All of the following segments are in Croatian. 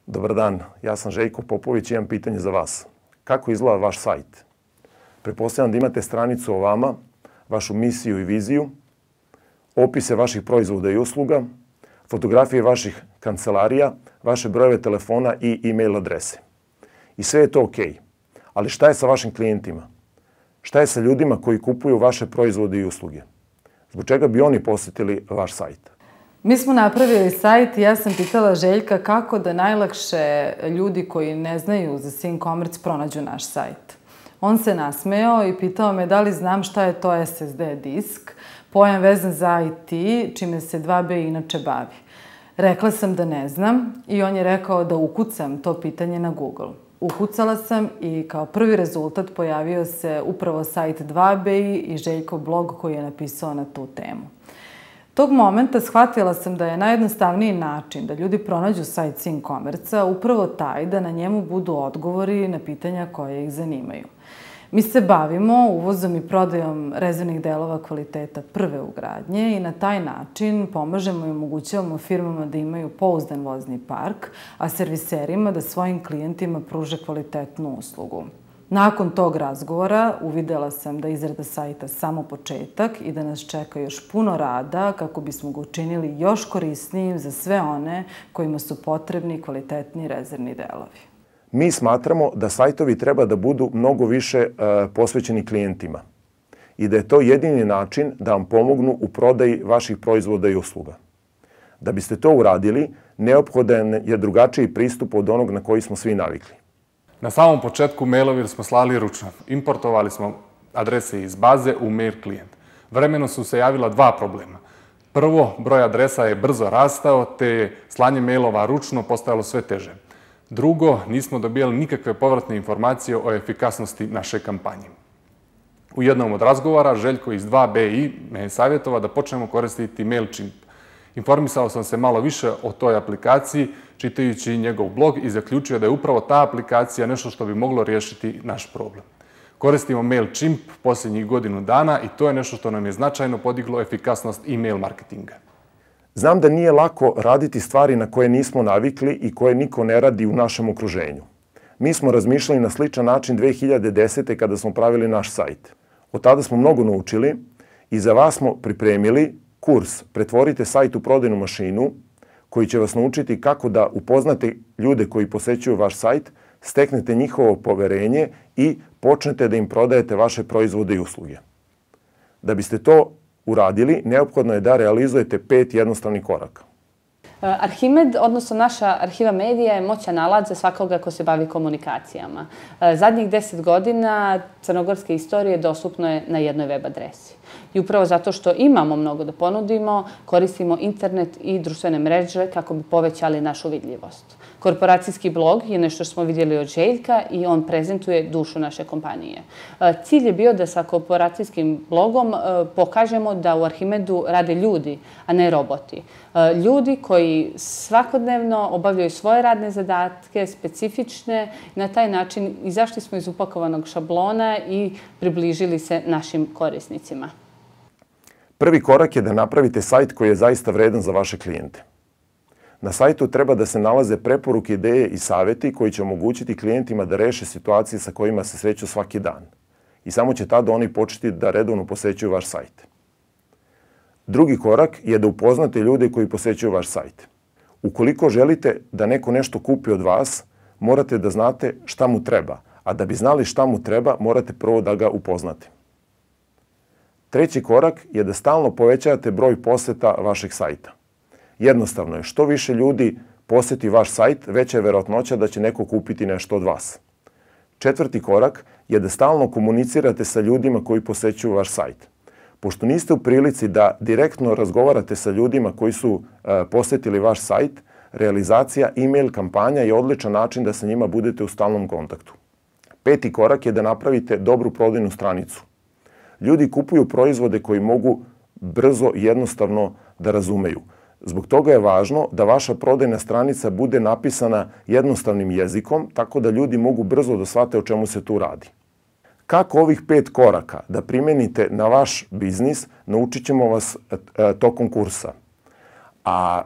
Dobar dan, ja sam Željko Popović i imam pitanje za vas. Kako izgleda vaš sajt? Pretpostavljam da imate stranicu o vama, vašu misiju i viziju, opise vaših proizvoda i usluga, fotografije vaših kancelarija, vaše brojeve telefona i e-mail adrese. I sve je to ok. Ali šta je sa vašim klijentima? Šta je sa ljudima koji kupuju vaše proizvode i usluge? Zbog čega bi oni posjetili vaš sajt? Mi smo napravili sajt i ja sam pitala Željka kako da najlakše ljudi koji ne znaju za SingCommerce pronađu naš sajt. On se nasmejao i pitao me da li znam šta je to SSD disk, pojam vezan za IT, čime se 2B inače bavi. Rekla sam da ne znam i on je rekao da ukucam to pitanje na Google. Ukucala sam i kao prvi rezultat pojavio se upravo sajt 2BI i Željkov blog koji je napisao na tu temu. Tog momenta shvatila sam da je najjednostavniji način da ljudi pronađu sajt SingCommerce-a upravo taj da na njemu budu odgovori na pitanja koje ih zanimaju. Mi se bavimo uvozom i prodajom rezervnih delova kvaliteta prve ugradnje i na taj način pomažemo i omogućavamo firmama da imaju pouzdan vozni park, a serviserima da svojim klijentima pruže kvalitetnu uslugu. Nakon tog razgovora uvidela sam da izrada sajta samo početak i da nas čeka još puno rada kako bismo ga učinili još korisnijim za sve one kojima su potrebni kvalitetni rezervni delovi. Mi smatramo da sajtovi treba da budu mnogo više posvećeni klijentima i da je to jedini način da vam pomognu u prodaji vaših proizvoda i usluga. Da biste to uradili, neophodan je drugačiji pristup od onog na koji smo svi navikli. Na samom početku mailovi smo slali ručno. Importovali smo adrese iz baze u mail klijent. Vremenom su se javila dva problema. Prvo, broj adresa je brzo rastao, te je slanje mailova ručno postajalo sve teže. Drugo, nismo dobijali nikakve povratne informacije o efikasnosti naše kampanje. U jednom od razgovora Željko iz 2BI me je savjetovao da počnemo koristiti MailChimp. Informisao sam se malo više o toj aplikaciji, čitajući njegov blog i zaključio da je upravo ta aplikacija nešto što bi moglo riješiti naš problem. Koristimo MailChimp posljednjih godinu dana i to je nešto što nam je značajno podiglo efikasnost e-mail marketinga. Znam da nije lako raditi stvari na koje nismo navikli i koje niko ne radi u našem okruženju. Mi smo razmišljali na sličan način 2010. kada smo pravili naš sajt. Od tada smo mnogo naučili i za vas smo pripremili kurs Pretvorite sajt u prodajnu mašinu koji će vas naučiti kako da upoznate ljude koji posećuju vaš sajt, steknete njihovo poverenje i počnete da im prodajete vaše proizvode i usluge. Da biste to uradili, neophodno je da realizujete 5 jednostavnih koraka. Arhimed, odnosno naša arhiva medija, je moćan alat za svakoga ko se bavi komunikacijama. Zadnjih 10 godina crnogorske istorije dostupno je na jednoj web adresi. I upravo zato što imamo mnogo da ponudimo, koristimo internet i društvene mreže kako bi povećali našu vidljivost. Korporacijski blog je nešto što smo vidjeli od Željka i on prezentuje dušu naše kompanije. Cilj je bio da sa korporacijskim blogom pokažemo da u Arhimedu rade ljudi, a ne roboti. Ljudi koji svakodnevno obavljaju svoje radne zadatke, specifične, na taj način izašli smo iz upakovanog šablona i približili se našim korisnicima. Prvi korak je da napravite sajt koji je zaista vredan za vaše klijente. Na sajtu treba da se nalaze preporuke, ideje i savjeti koji će omogućiti klijentima da reše situacije sa kojima se sreću svaki dan. I samo će tada oni početi da redovno posećuju vaš sajt. Drugi korak je da upoznate ljude koji posećuju vaš sajt. Ukoliko želite da neko nešto kupi od vas, morate da znate šta mu treba, a da bi znali šta mu treba, morate prvo da ga upoznate. Treći korak je da stalno povećavate broj poseta vašeg sajta. Jednostavno je, što više ljudi poseti vaš sajt, veća je verovatnoća da će neko kupiti nešto od vas. Četvrti korak je da stalno komunicirate sa ljudima koji posećuju vaš sajt. Pošto niste u prilici da direktno razgovarate sa ljudima koji su posetili vaš sajt, realizacija e-mail kampanja je odličan način da sa njima budete u stalnom kontaktu. Peti korak je da napravite dobru prodajnu stranicu. Ljudi kupuju proizvode koji mogu brzo i jednostavno da razumeju. Zbog toga je važno da vaša prodajna stranica bude napisana jednostavnim jezikom, tako da ljudi mogu brzo da shvate o čemu se tu radi. Kako ovih 5 koraka da primenite na vaš biznis, naučit ćemo vas tokom kursa. A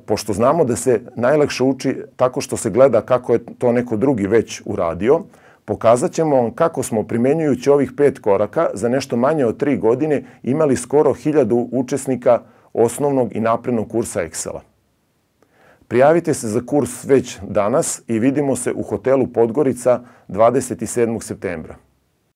pošto znamo da se najlakše uči tako što se gleda kako je to neko drugi već uradio, pokazat ćemo vam kako smo primenjujući ovih 5 koraka za nešto manje od 3 godine imali skoro 1000 učesnika osnovnog i naprednog kursa Excela. Prijavite se za kurs već danas i vidimo se u hotelu Podgorica 27. septembra.